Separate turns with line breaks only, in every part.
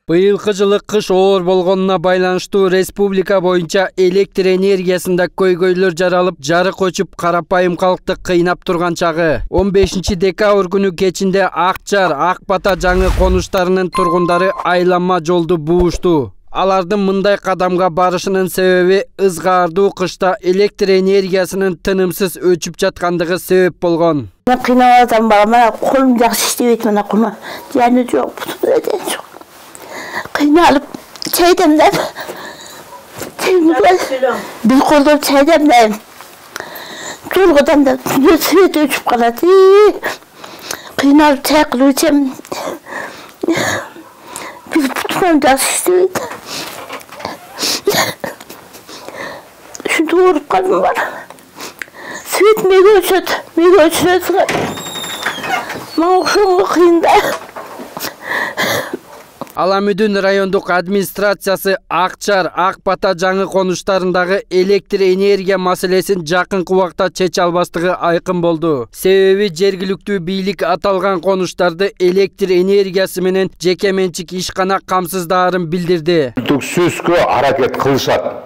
Быйылкы жылы кыш оор болгонуна байланыштуу республика боюнча электр энергиясында көйгөйлөр жаралып, жарык өчүп, карапайым калкты кыйнап турган чагы. 15 декабрь күнү кечинде Акчар, Ак Бата жаңы конуштарынын тургундары айланма жолду буушту. Алардын мындай кадамга барышынын себеби ызгаардуу кышта электр энергиясынын тынымсыз өчүп жаткандыгы себеп болгон.
Мен кыйнап атам бала, колум жакшы иштебейт, мына кулма. Жаны жок, бутун жок. Кыйналып, чай демдеп. Бир колдоп чай демдеп. Жолгодан да свет өчүп калат. Кыйналып чай кылып ичем. Бир бутун жакшы иштебейт. Ушинтип ооруп калдым бар. Свет мега өчөт. Мага ошого кыйын да.
Аламүдүн райондук администрациясы Акчар, Ак Бата жаңы конуштарындагы электр энергия маселесин жакынкы убакта чече албастыгы айкын болду. Себеби жергиликтүү бийлик аталган конуштарды электр энергиясы менен жеке менчик ишкана камсыздаарын билдирди.
Түксүзгө аракет кылышат.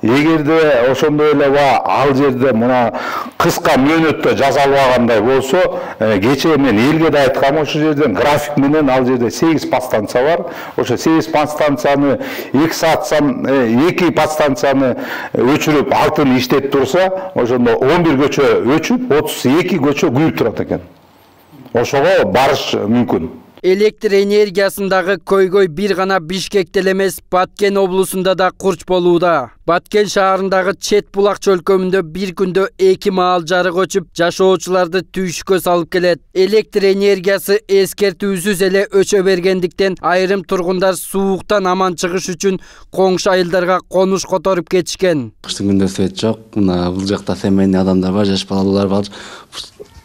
Эгерде ошондой эле ал жерде мына кыска мөөнөттө жаза албагандай болсо, кечээ мен элге да айткам, ошол жерден график менен ал жерде 8 подстанция бар. Ошо 8 подстанцияны 2 саатсан 2 подстанцияны өчүрүп, алтын иштеп турса, ошондо 11 көчө өчүп, 32 көчө күйүп турат экен. Ошого барыш мүмкүн.
Электр энергиясындагы көйгөй бир гана Бишкекте эмес, Баткен облусунда да курч болууда. Баткен шаарындагы Чет булак чөлкөмүндө бир күндө 2 маал жарык өчүп, жашоочуларды түйшүккө салып келет. Электр энергиясы эскертүүсүз эле өчө бергендиктен айрым тургундар сууктан аман чыгыш үчүн коңшу айылдарга конуш которуп кетишкен.
Кыштын күндө свет жок, мына бул жакта семейный адамдар бар, жаш балалар бар.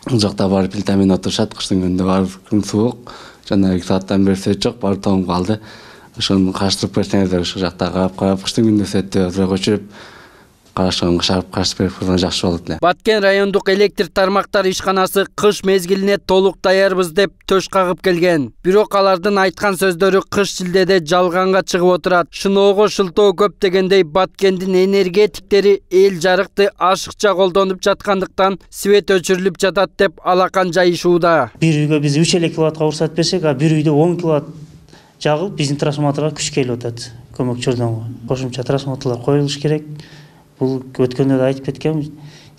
Бул жакта барып плитамен отурушат, кыштын күндө бар, күн суук. Жана 2 сааттан бери свет жок, баары тоңуп калды. Ошону караштырып берсеңиздер, ошол жакта карап, кыштын күндө светти өзүрөөк өчүрүп, караштырып берип койсоңор жакшы болот эле.
Баткен райондук электр тармактар ишканасы кыш мезгилине толук даярбыз деп төш кагып келген. Бирок алардын айткан сөздөрү кыш шилдеде жалганга чыгып отурат. Шыноого шылтоо көп дегендей Баткендин энергетиктери эл жарыкты ашыкча колдонуп жаткандыктан свет өчүрүлүп жатат деп алакан жайышууда.
Бир үйгө биз 3 киловаттка уруксат берсек, бир үйдө 10 киловатт жагылып, биздин трансформаторго күч келип атат. Көмөкчүлөрдөн кошумча трансформаторлор коюлуш керек. Бул өткөндө да айтып кеткем,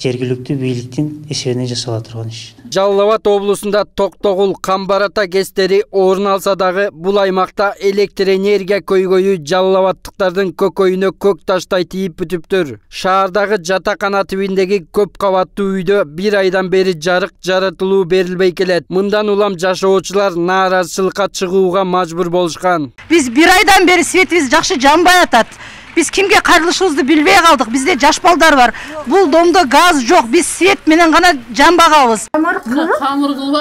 жергиликтүү бийликтин эсебинен жасала турган иш.
Жалал Абад облусунда Токтогул, Камбарата кестери орун алса дагы, бул аймакта электр энергия көйгөйү жалал абадтыктардын көкөйүнө көк таштай тийип бүтүптүр. Шаардагы жатакана тибиндеги көп кабаттуу үйдө бир айдан бери жарык жаратылуу берилбей келет. Мындан улам жашоочулар нааразычылыкка чыгууга мажбур болушкан.
Биз бир айдан бери светибиз жакшы жанбай атат. Биз кимге кайрылышыбызды билбей калдык. Бизде жаш балдар бар. Бул домдо газ жок. Биз свет менен гана жанбагабыз.
Камыр кылып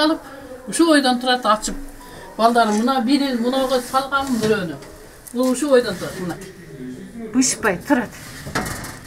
алып, ушу ойдон турат ачып. Балдарым мына бирин мынага салгам бирөөнү. Бул ушу ойдон турат мына.
Бышпай турат.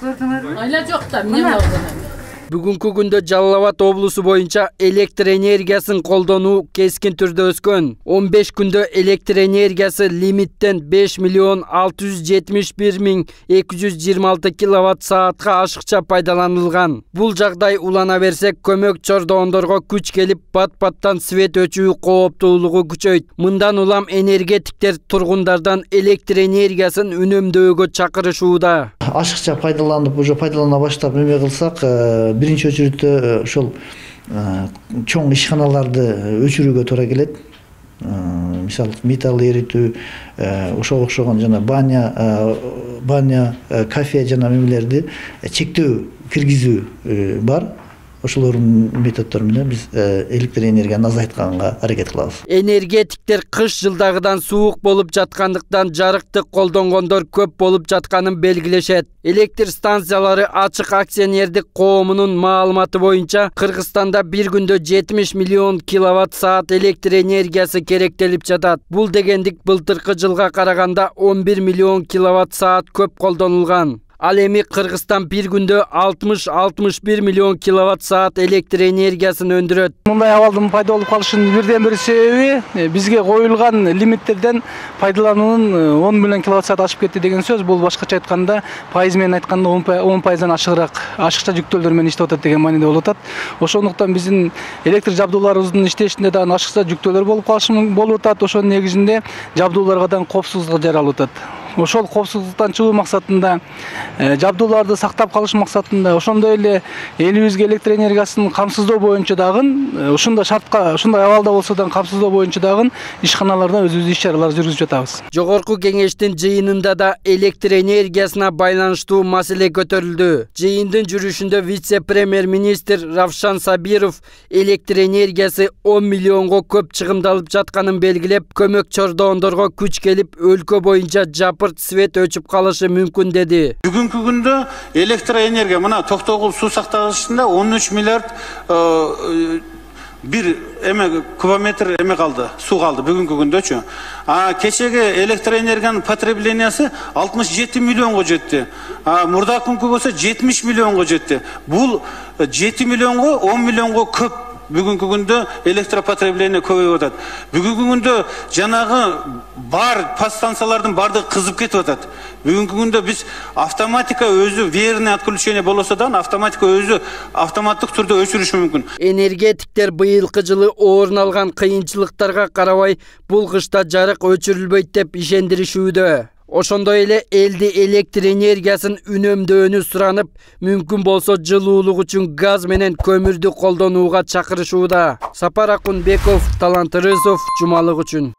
Көрдүңөрбү?
Айла жок да, эмне болгон.
Бүгүнкү күндө Жалал Абад облусу боюнча электр энергиясын колдонуу кескин түрдө өскөн. 15 күндө электр энергиясы лимиттен 5,671,226 киловатт саатка ашыкча пайдаланылган. Бул жагдай улана берсе, көмөк чордоондорго күч келип, бат-баттан свет өчүү кооптуулугу күчөйт. Мындан улам энергетиктер тургундардан электр энергиясын үнөмдөөгө чакырышууда.
Ашыкча пайдаланып, уже пайдалана баштап эме кылсак, биринчи очередте ошол чоң ишканаларды өчүрүүгө туура келет. Мисалы, металл эритүү, ошого окшогон жана баня, кафе жана эмелерди чектөө киргизүү бар. Ошолордун методдору менен биз электр энергияны азайтканга аракет кылабыз.
Энергетиктер кыш жылдагыдан суук болуп жаткандыктан жарыкты колдонгондор көп болуп жатканын белгилешет. Электр станциялары ачык акционердик коомунун маалыматы боюнча Кыргызстанда бир күндө 70 миллион киловатт саат электр энергиясы керектелип жатат. Бул дегендик былтыркы жылга караганда 11 миллион киловатт саат көп колдонулган. Ал эми Кыргызстан бир күндө 60-61 миллион киловатт саат электр энергиясын өндүрөт.
Мындай абалдын пайда болуп калышынын бирден бир себеби бизге коюлган лимиттерден пайдалануунун 10 миллион киловатт саат ашып кетти деген сөз. Бул башкача айтканда, пайыз менен айтканда 10%дан ашыкча жүктөөлөр менен иштеп атат деген мааниде болуп атат. Ошондуктан биздин электр жабдууларыбыздын иштешинде дагы ашыкча жүктөөлөр болуп атат. Ошонун негизинде жабдууларга да коопсуздук жаралып атат. Ошол коопсуздуктан чыгуу максатында, жабдууларды сактап калыш максатында, ошондой эле элибизге электр энергиясын камсыздоо боюнча дагы, ушундай шартка, ушундай абалда болсо да камсыздоо боюнча дагы ишканаларда өзүбүздүн иш-чараларды жүргүзүп жатабыз.
Жогорку кеңештин жыйынында да электр энергиясына байланыштуу маселе көтөрүлдү. Жыйындын жүрүшүндө вице-премьер-министр Равшан Сабиров электр энергиясы 10 миллионго көп чыгымдалып жатканын белгилеп, көмөк чордоондорго күч келип, өлкө боюнча свет өчүп калышы мүмкүн деди.
Бүгүнкү күндө электр энергия мына Токтогул суу сактагычында 13 миллиард бир кубометр калды, суу калды бүгүнкү күндөчү. Кечеги электр энергиянын потреблениясы 67 миллионго жетти. Мурдакы күнгө болсо 70 миллионго жетти. Бул 7 миллионго 10 миллионго көп. Бүгүнкү күндө электропотребление көбөйүп атат. Бүгүнкү күндө жанагы бар подстанциялардын бардыгы кызып кетип атат. Бүгүнкү күндө биз автоматика өзү верное отключение болсо да автоматика өзү автоматтык түрдө өчүрүшү мүмкүн.
Энергетиктер быйылкы жылы орун алган кыйынчылыктарга карабай бул кышта жарык өчүрүлбөйт деп ишендиришүүдө. Ошондой эле элди электр энергиясын үнөмдөөнү суранып, мүмкүн болсо жылуулук үчүн газ менен көмүрдү колдонууга чакырышууда. Сапар Акунбеков, Талант Рызов, Жумалык үчүн.